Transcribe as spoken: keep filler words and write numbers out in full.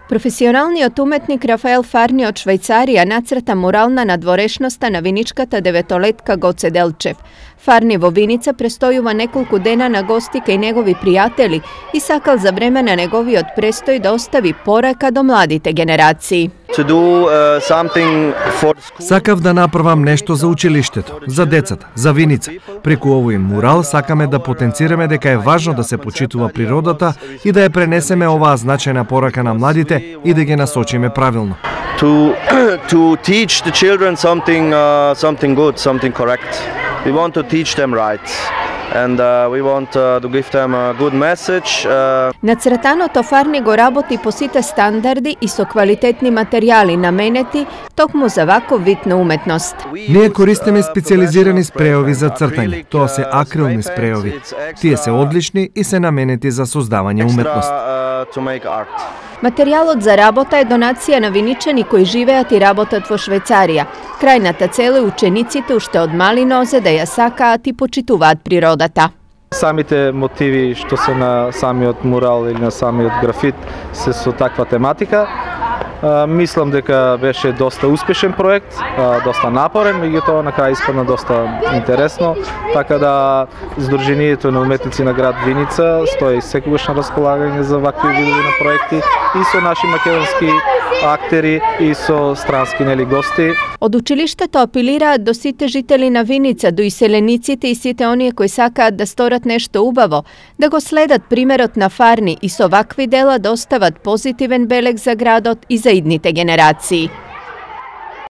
Професионалниот уметник Рафаел Фарни од Швајцарија нацрта мурал на надворешноста на виничката деветолетка Гоце Делчев. Фарни во Виница престојува неколку дена на гости кај негови пријатели и сакал за време на неговиот престој да остави порака до младите генерации. Сакав да направам нешто за училиштето, за децата, за Виница. Преку овој мурал сакаме да потенцираме дека е важно да се почитува природата и да ја пренесеме оваа значајна порака на младите и да ги насочиме правилно. To to teach the children something uh, something good, something correct. We want to teach them right. And uh, we want uh, to give them a good message. Uh... Нацртаното Фарни го работи по сите стандарди и со квалитетни материјали наменети токму за ваков вид на уметност. Ние користиме специализирани спреови за цртање. Тоа се акрилни спреови. Тие се одлични и се наменети за создавање уметност. Материјалот за работа е донација на виничани кои живеат и работат во Швајцарија. Крајната цел е учениците уште од мали нозе да ја сакаат и почитуваат природата. Самите мотиви што се на самиот мурал или на самиот графит се со таква тематика. Uh, мислам дека беше доста успешен проект, uh, доста напорен, меѓутоа на крај испадна доста интересно, така да Сдруженијето на уметници на град Виница стои секогаш на располагање за вакви видови на проекти и со наши македонски актери и со странски нели гости. Од училиштето апелираат до сите жители на Виница, до иселениците и сите оние кои сакаат да сторат нешто убаво, да го следат примерот на Фарни и со вакви дела да остават позитивен белег за градот и за идните генерации.